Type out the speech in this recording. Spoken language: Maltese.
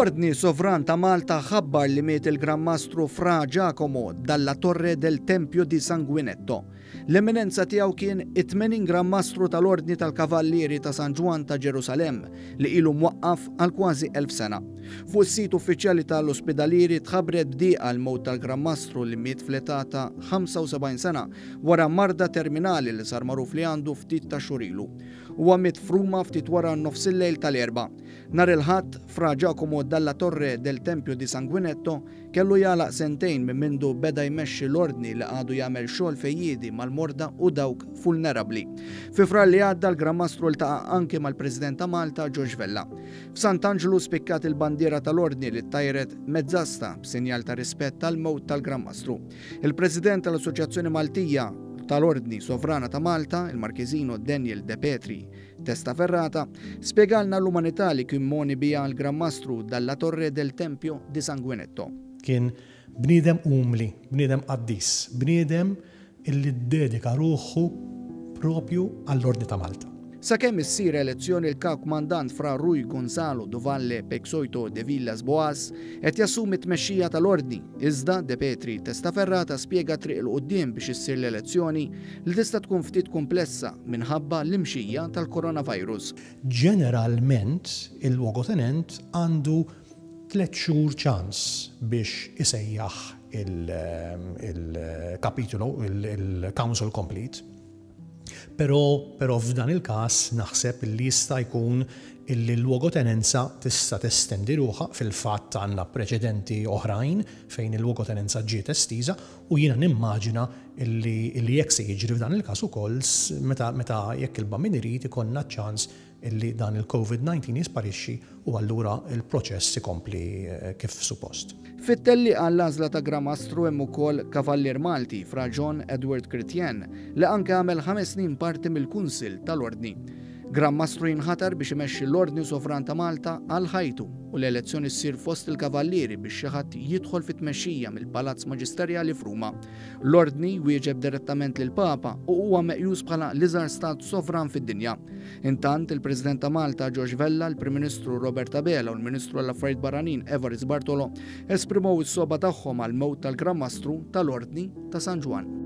L-Ordni Sovran ta' Malta ħabbar li miet il-Gran Mastru Fra Giacomo dalla Torre del Tempio di Sanguinetto. L-Eminenza Tiegħu kien it-80 Gran Mastru tal-Ordni tal-Kavallieri ta' San Ġwann ta' Ġerusalemm li ilu mwaqqaf għal kważi 1000 sena. Fuq is-sit uffiċjali ta' l-Ospidalieri tħabbret b'dieqa l-mewt tal-Gran Mastru li miet fl-età ta' 75 sena wara marda terminali li sar magħruf li għandu ftit tax-xhur ilu. Huwa miet f'Ruma ftit wara nofsillejl tal-Erbgħa. Nhar il-Ħadd, Fra Giacomo dalla Torre del Tempio di Sanguinetto kellu jagħlaq sentejn minn mindu beda jmexxi l-Ordni li għadu jagħmel xogħol fejjiedi mal-morda u dawk fulnerabbli. Fi Frar li għadda l-Gran Mastru ltaqa' anki mal-President ta' Malta George Vella. F'Sant'Anġlu spikkat il-bandiera tal-Ordni li ttajret mezz'asta b'sinjal ta' rispett għall-mewt tal-Gran Mastru. Il-President tal-Assoċjazzjoni Maltija tal-Ordni Sovrana ta' Malta, il-Marchesino Daniel De Petri Testaferrata, spjegalna l-umanità li kien mogħni biha l-Gran Mastru Dalla Torre del Tempio di Sanguinetto. Kien bniedem umli, bniedem qaddis, bniedem illi ddedika ruħu propju għall-Ordni ta' Malta. Sakemm issir elezzjoni l-Kap Kmandant Fra Rui Gonzalo do Valle Peixoito de Villas Boas qed jassumi t-tmexxija tal-Ordni, iżda De Petri Testaferrata spjega t-triq 'il quddiem biex issir l-elezzjoni li tista' tkun ftit kumplessa minħabba l-imxija tal-coronavirus. Ġeneralment il-luogotenent għandu tlett xhur ċans biex isejjaħ il-kapitolu, il-council complete. Però, però f'dan il-każ naħseb li jista' jkun illi l-luogotenenza tista' testendi ruħha, fil-fatt għandna preċedenti oħrajn fejn il-luogotenenza ġiet estiża u jiena nimmaġina illi illi hekk se jiġri f'dan il-każ ukoll meta meta jekk il-Bambin irid ikollna ċ-ċans illi dan il-Covid 19 jisparixxi u allura l-proċess ikompli kif suppost. Fit-tellieqa għall-għażla ta' Gran Mastru hemm ukoll Kavallier Malti, Fra John Edward Chrétien, li anke għamel ħames snin parti mill-Kunsill tal-Ordni. Gran Mastru jinħatar biex imexxi l-Ordni Sovran ta' Malta għal ħajtu u l-elezzjoni ssir fost il-Kavallieri biex xi ħadd jidħol fit-tmexxija mill-Palazz Maġisterjali f'Ruma. L-Ordni jwieġeb direttament lill-Papa u huwa meqjus bħala l-iżgħar stat sovran fid-dinja. Intant, il-President ta' Malta George Vella, il-Prim Ministru Robert Abela u l-Ministru għall-Affarijiet Barranin Evarist Bartolo esprimow is-sogħba tagħhom għall-mewt tal-Gran Mastru tal-Ordni ta' San Ġwann.